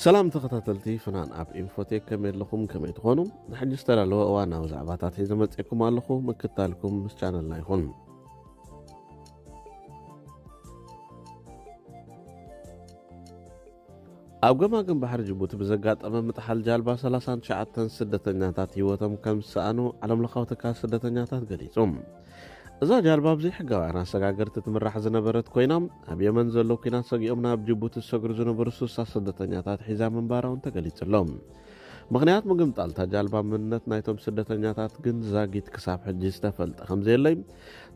ሰላም ተኸታተልቲ ፍናን ኣብ ኢንፎቴክ፣ ከመይ ኣለኹም? ከመይ ትኾኑ? ንሕጂ ዝተዳለወ እዋናዊ ዛዕባታት ሒዘ መፅእኩም ኣለኹ። ምክታልኩም ምስ ቻነልና ይኹን። ኣብ ገማግም ባሕሪ ጅቡቲ ብዘጋጠመ ምጥሓል ጃልባ ሰላሳን ትሽዓተን ስደተኛታት ህይወቶም ከም ዝሰኣኑ ዓለም ለኻዊ ትካል ስደተኛታት ገሊጹ። እዛ ጃልባ ብዘይሕጋውያን ኣሰጋገርቲ ትምራሕ ዝነበረት ኮይና፣ ኣብ የመን ዘሎ ኲናት ሰጊኦም ናብ ጅቡቲ ዝሰግሩ ዝነበሩ ስሳ ስደተኛታት ሒዛ ምንባራ እውን ተገሊጹ ኣሎ። ምኽንያት ምግምጣል እታ ጃልባ መንነት ናይቶም ስደተኛታት ግን ዛጊት ክሳብ ሕጂ ዝተፈልጠ ከም ዘየለይ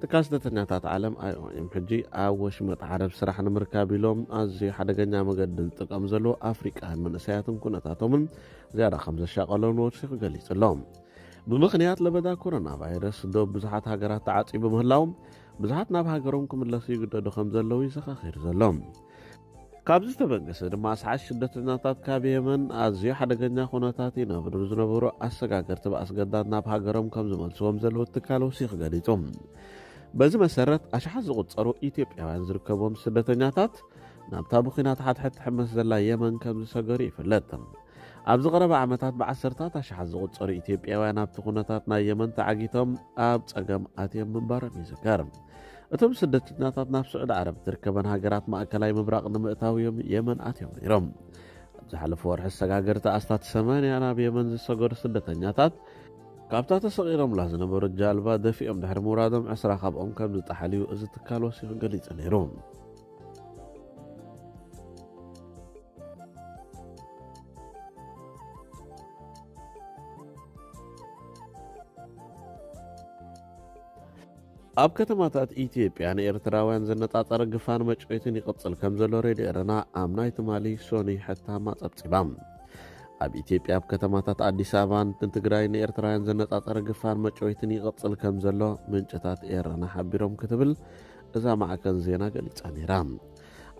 ትካል ስደተኛታት ዓለም ኣይኦኤም ሕጂ ኣብ ወሽመጥ ዓረብ ስራሕ ንምርካብ ኢሎም ኣዝዩ ሓደገኛ መገዲ ዝጥቀሙ ዘለዉ ኣፍሪቃውያን መንእሰያትን ኩነታቶምን ዝያዳ ከም ዘሻቐሎም ወሲኹ ገሊጹ ኣሎ። ብምኽንያት ለበዳ ኮሮና ቫይረስ ዶብ ብዙሓት ሃገራት ተዓጽዩ ብምህላው ብዙሓት ናብ ሃገሮም ክምለሱ ይግደዱ ከም ዘለዉ እዩ ዘኻኺሩ ዘሎ። ካብዚ ዝተበገሰ ድማ ኣስሓት ስደተኛታት ካብ የመን ኣዝዩ ሓደገኛ ኩነታት ይነብሩ ዝነበሩ ኣሰጋገርቲ ብኣስገዳድ ናብ ሃገሮም ከም ዝመልስዎም ዘለዉ ትካል ወሲኹ ገሊጹ። በዚ መሰረት ኣሽሓት ዝቑጸሩ ኢትዮጵያውያን ዝርከቦም ስደተኛታት ናብታ ብኲናት ሓድሕድ ትሕመስ ዘላ የመን ከም ዝሰገሩ ይፍለጥ። ኣብዚ ቀረባ ዓመታት ብዓሰርታት ኣሽሓት ዝቑጸሩ ኢትዮጵያውያን ኣብቲ ኩነታት ናይ የመን ተዓጊቶም ኣብ ጸገም ኣትዮም ምንባሮም ይዝከር። እቶም ስደተኛታት ናብ ስዑዲ ዓረብ እትርከበን ሃገራት ማእከላይ ምብራቕ ንምእታው እዮም የመን ኣትዮም ነይሮም። ኣብ ዝሓለፈ ወርሒ ኣሰጋገርቲ ኣስታት ሰማንያ ናብ የመን ዝሰገሩ ስደተኛታት ካብታ ተሰቒሎምላ ዝነበሩ ጃልባ ደፊኦም ድሕሪ ምውራዶም ዕስራ ካብኦም ከም ዝጠሓሉ እዩ እዚ ትካል ወሲኹ ገሊጹ ነይሩ። ኣብ ከተማታት ኢትዮጵያ ንኤርትራውያን ዘነጻጸረ ግፋን መጭወይትን ይቕጽል ከም ዘሎ ሬድዮ ኤረና ኣብ ናይ ትማሊ ሶኒ ሕታማ ጸብጺባ። ኣብ ኢትዮጵያ ኣብ ከተማታት ኣዲስ ኣበባን ትግራይ ንኤርትራውያን ዘነጻጸረ ግፋን መጭወይትን ይቕጽል ከም ዘሎ ምንጭታት ኤረና ሓቢሮም ክትብል እዛ ማዕከን ዜና ገሊጻ ነይራ።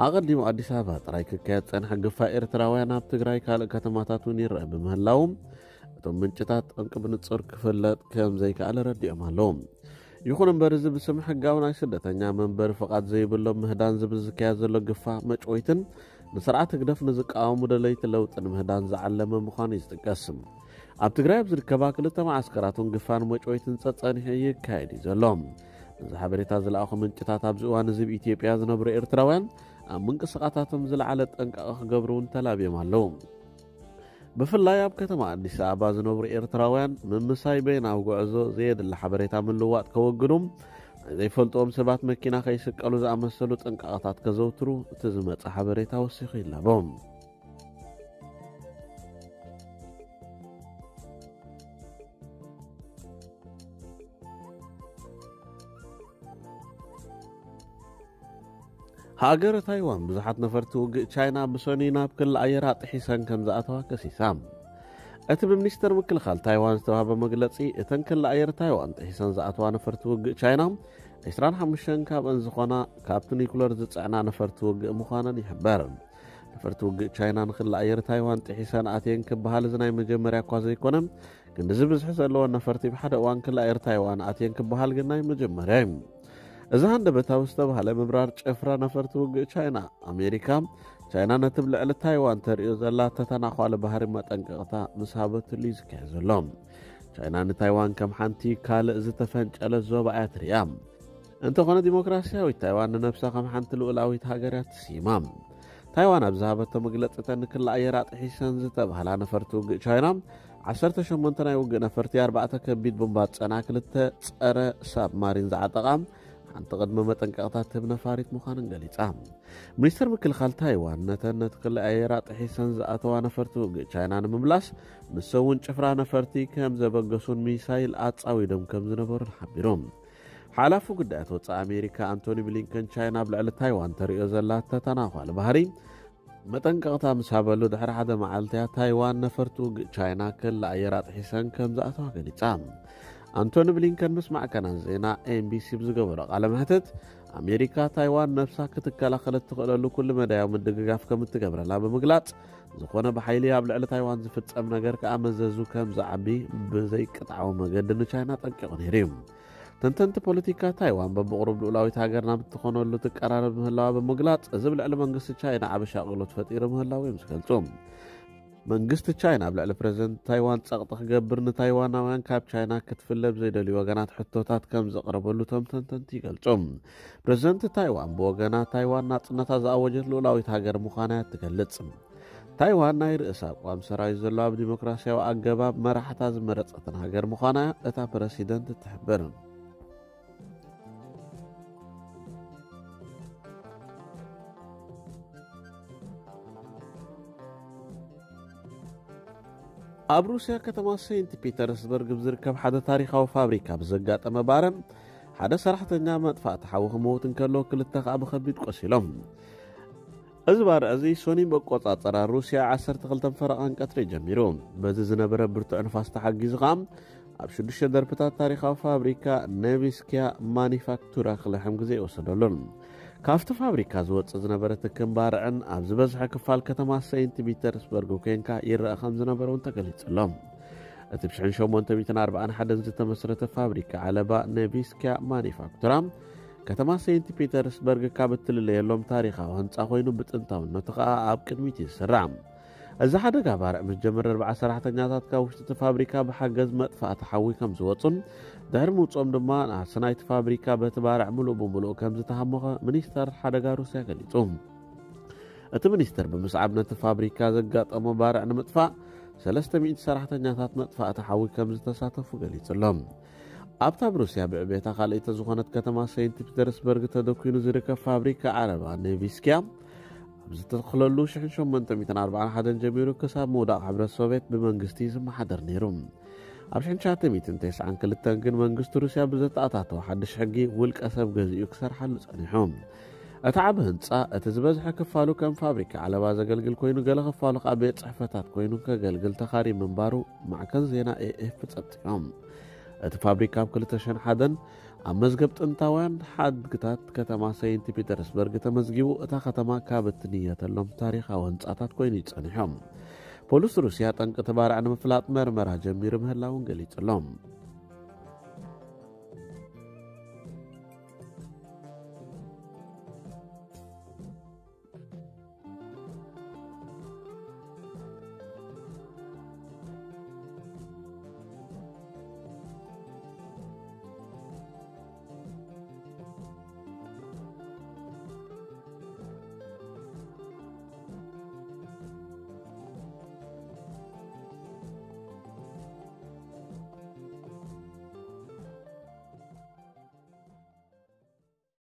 ኣቐዲሙ ኣዲስ ኣበባ ጥራይ ክካየድ ጸንሐ ግፋ ኤርትራውያን ኣብ ትግራይ ካልእ ከተማታት እውን ይረአ ብምህላው እቶም ምንጭታት ጠንቂ ብንጹር ክፍለጥ ከም ዘይከኣለ ረዲኦም ኣለዉ። ይኹን እምበር እዚ ብስም ሕጋዊ ናይ ስደተኛ መንበሪ ፍቓድ ዘይብሎም ምህዳን ዝብል ዝካየድ ዘሎ ግፋ መጭወይትን ንስርዓት ህግደፍ ንዝቃወሙ ደለይቲ ለውጢ ንምህዳን ዝዓለመ ምዃኑ እዩ ዝጥቀስ። ኣብ ትግራይ ኣብ ዝርከባ ክልተ መዓስከራት እውን ግፋን መጭወይትን ጸጸኒሑ ይካየድ እዩ ዘሎ። ነዚ ሓበሬታ ዝለኣኹ ምንጭታት ኣብዚ እዋን እዚ ኣብ ኢትዮጵያ ዝነብሩ ኤርትራውያን ኣብ ምንቅስቓሳቶም ዝለዓለ ጥንቃቐ ክገብሩ እውን ተላብዮም ኣለዉ። ብፍላይ ኣብ ከተማ ኣዲስ ኣበባ ዝነብሩ ኤርትራውያን ምምሳይ በይናዊ ጉዕዞ ዘየድሊ ሓበሬታ ምልዋጥ ከወግዱ፣ ናይ ዘይፈልጥዎም ሰባት መኪና ከይስቀሉ ዝኣመሰሉ ጥንቃቐታት ከዘውትሩ እቲ ዝመጸ ሓበሬታ ወሲኹ ይላቦ። ሃገረ ታይዋን ብዙሓት ነፈርቲ ውግእ ቻይና ብሰኑይ ናብ ክሊ ኣየራ ጥሒሰን ከም ዝኣተዋ ከሲሳ። እቲ ብሚኒስተር ምክልኻል ታይዋን ዝተዋህበ መግለጺ፣ እተን ክሊ ኣየር ታይዋን ጥሒሰን ዝኣተዋ ነፈርቲ ውግእ ቻይና፣ ዕስራን ሓሙሽተን ካብአን ዝኾና ካብቲ ኒኩለር ዝጽዕና ነፈርቲ ውግእ ምዃነን ይሕበር። ነፈርቲ ውግእ ቻይና ንክሊ ኣየር ታይዋን ጥሒሰን ኣትየን ክበሃል እዚ ናይ መጀመርያ እኳ ዘይኮነ፣ ክንድዚ ብዝሒ ዘለወን ነፈርቲ ብሓደ እዋን ክሊ ኣየር ታይዋን ኣትየን ክበሃል ግን ናይ መጀመርያ እዩ። እዚ ሃንደበታዊ ዝተባህለ ምብራር ጭፍራ ነፈርቲ ውግእ ቻይና፣ ኣሜሪካ፣ ቻይና ነቲ ኣብ ልዕሊ ታይዋን ተርእዮ ዘላ ተተናዃሊ ባህሪ መጠንቀቕታ ምስ ሃበትሉ እዩ ዝካየድ ዘሎ። ቻይና ንታይዋን ከም ሓንቲ ካልእ ዝተፈንጨለት ዞባ እያ ትርእያ። እንተኾነ ዲሞክራስያዊት ታይዋን ንነብሳ ከም ሓንቲ ልኡላዊት ሃገር እያ ትስይማ። ታይዋን ኣብ ዝሃበቶ መግለጺ እተን ንክሊ ኣየር ኣጥሒሰን ዝተባህላ ነፈርቲ ውግእ ቻይና ዓሰርተ ሸሞንተ ናይ ውግእ ነፈርቲ፣ ኣርባዕተ ከቢድ ቦምባት ዝጸንዓ፣ ክልተ ጸረ ሳብማሪን ዝዓጠቓ ሓንቲ ቅድመ መጠንቀቕታ ትህብ ነፋሪት ምዃነን ገሊጻ። ሚኒስተር ምክልኻል ታይዋን ነተን ነቲ ክሊ ኣየራ ጥሒሰን ዝኣተዋ ነፈርቲ ውግእ ቻይና ንምምላስ ንሰውን ጭፍራ ነፈርቲ ከም ዘበገሱን ሚሳይል ኣጻዊዶም ከም ዝነበሩን ሓቢሩ። ሓላፊ ጉዳያት ወጻኢ ኣሜሪካ ኣንቶኒ ብሊንከን ቻይና ኣብ ልዕሊ ታይዋን ተርእዮ ዘላ ተተናዃሊ ባህሪ መጠንቀቕታ ምስ ሃበሉ ድሕሪ ሓደ መዓልቲ እያ ታይዋን ነፈርቲ ውግእ ቻይና ክሊ ኣየር ኣጥሒሰን ከም ዝኣተዋ ገሊጻ። ኣንቶኒ ብሊንከን ምስ ማዕከናት ዜና ኤምቢሲ ብዝገበሮ ቃለ መሕትት፣ ኣሜሪካ ታይዋን ነብሳ ክትከላኸል እትኽእለሉ ኩሉ መዳያዊ ምድግጋፍ ከም እትገብረላ ብምግላጽ፣ ዝኾነ ብሓይሊ ኣብ ልዕሊ ታይዋን ዝፍጸም ነገር ከኣ መዘዙ ከም ዝዓቢ ብዘይቅጥዓዊ መገዲ ንቻይና ጠንቂቑ ነይሩ እዩ። ተንተንቲ ፖለቲካ ታይዋን በብቕሩብ ልኡላዊት ሃገር ናብ እትኾነሉ ትቀራረብ ምህላዋ ብምግላጽ፣ እዚ ኣብ ልዕሊ መንግስቲ ቻይና ዓቢ ሻቕሎት ፈጢሩ ምህላዉ እዮም ዝገልጹ። መንግስቲ ቻይና ኣብ ልዕሊ ፕረዚደንት ታይዋን ጸቕጢ ክገብር፣ ንታይዋናውያን ካብ ቻይና ክትፍለ ብዘይደልዩ ወገናት ሕቶታት ከም ዘቕረበሉ እቶም ተንተንቲ ይገልጹ። ፕረዚደንት ታይዋን ብወገና፣ ታይዋን ናጽነታ ዝኣወጀት ልኡላዊት ሃገር ምዃና እያ ትገልጽ። ታይዋን ናይ ርእሰ ኣቋም ሰራዊት ዘለዋ፣ ኣብ ዲሞክራሲያዊ ኣገባብ መራሕታ ዝመረጸትን ሃገር ምዃና እታ ፕረሲደንት ትሕብር። ኣብ ሩስያ ከተማ ሴንት ፒተርስበርግ ብዝርከብ ሓደ ታሪኻዊ ፋብሪካ ብዘጋጠመ ባርዕ፣ ሓደ ሰራሕተኛ መጥፋእቲ ሓዊ ክመውት እንከሎ፣ ክልተ ከኣ ብኸቢድ ቆሲሎም። እዚ ባርዕ እዚ ሶኒ መቆጻጸራ ሩስያ ዓሰርተ ክልተ ፈረቓን ቀትሪ ጀሚሩ። በዚ ዝነበረ ብርቱዕ ንፋስ ተሓጊዙ ከኣ ኣብ ሽዱሽተ ደርብታት ታሪኻዊ ፋብሪካ ኔቪስኪያ ማኒፋክቱራ ክልሕም ግዜ ይወሰደሉን። ካብቲ ፋብሪካ ዝወጽእ ዝነበረ ትክን ባርዕን ኣብ ዝበዝሐ ክፋል ከተማ ሴንት ፒተርስበርግ ኮንካ ይረኣ ከም ዝነበረ እውን ተገሊጹ ኣሎ። እቲ ብ ሸሞንተ ሚእትን ኣርባዓን ሓደን ዝተመስረተ ፋብሪካ ዓለባ ኔቪስኪያ ማኒፋክቱራ፣ ከተማ ሴንት ፒተርስበርግ ካብ እትልለየሎም ታሪኻዊ ህንጻ ኮይኑ፣ ብጥንታውነቱ ከኣ ኣብ ቅድሚት እዩ ዝስራዕ። እዚ ሓደጋ ባርዕ ምስ ጀመረ፣ ኣርባዓ ሰራሕተኛታት ካብ ውሽጢ እቲ ፋብሪካ ብሓገዝ መጥፋእቲ ሓዊ ከም ዝወጹን ድሕሪ ምውጽኦም ድማ ናሕሲ ናይቲ ፋብሪካ በቲ ባርዕ ምሉእ ብምሉእ ከም ዝተሃሞኸ ሚኒስተር ሓደጋ ሩስያ ገሊጹ። እቲ ሚኒስተር ብምስዓብ ነቲ ፋብሪካ ዘጋጠሞ ባርዕ ንምጥፋእ ሰለስተ ሚእቲ ሰራሕተኛታት መጥፋእቲ ሓዊ ከም ዝተሳተፉ ገሊጹ ኣሎ። ኣብታ ኣብ ሩስያ ብዕቤታ ካልኣይቲ ዝኾነት ከተማ ሴንት ፒተርስበርግ ተደኲኑ ዝርከብ ፋብሪካ ዓለባ ኔቪስኪያ፣ ኣብ ዝተተኽለሉ ሸሞንተ ሚእትን ኣርባዓን ሓደን ጀሚሩ ክሳብ ምውዳቕ ሕብረት ሶቭየት ብመንግስቲ ዝመሓደር ነይሩ። ኣብ ሸሞንተ ሚእትን ተስዓን ክልተን ግን መንግስቲ ሩስያ ብዘተኣታተወ ሓድሽ ሕጊ ውልቀ ሰብ ገዚኡ ክሰርሓሉ ጸኒሑ። እቲ ዓቢ ህንጻ፣ እቲ ዝበዝሐ ክፋሉ ከም ፋብሪካ ዓለባ ዘገልግል ኮይኑ፣ ገለ ክፋሉ ከኣ ቤት ጽሕፈታት ኮይኑ ከገልግል ተኻሪ ምንባሩ ማዕከን ዜና ኤ ኤፍ ጸብጺቦም። እቲ ፋብሪካ ኣብ ክልተ ሽሕን ሓደን ኣብ መዝገብ ጥንታውያን ሓድግታት ከተማ ሴንት ፒተርስበርግ ተመዝጊቡ፣ እታ ከተማ ካብ እትንየተሎም ታሪኻዊ ህንጻታት ኮይኑ እዩ ጸኒሑ። ፖሊስ ሩስያ ጠንቂ እቲ ባርዕ ንምፍላጥ መርመራ ጀሚሩ ምህላውን ገሊጹ ኣሎ።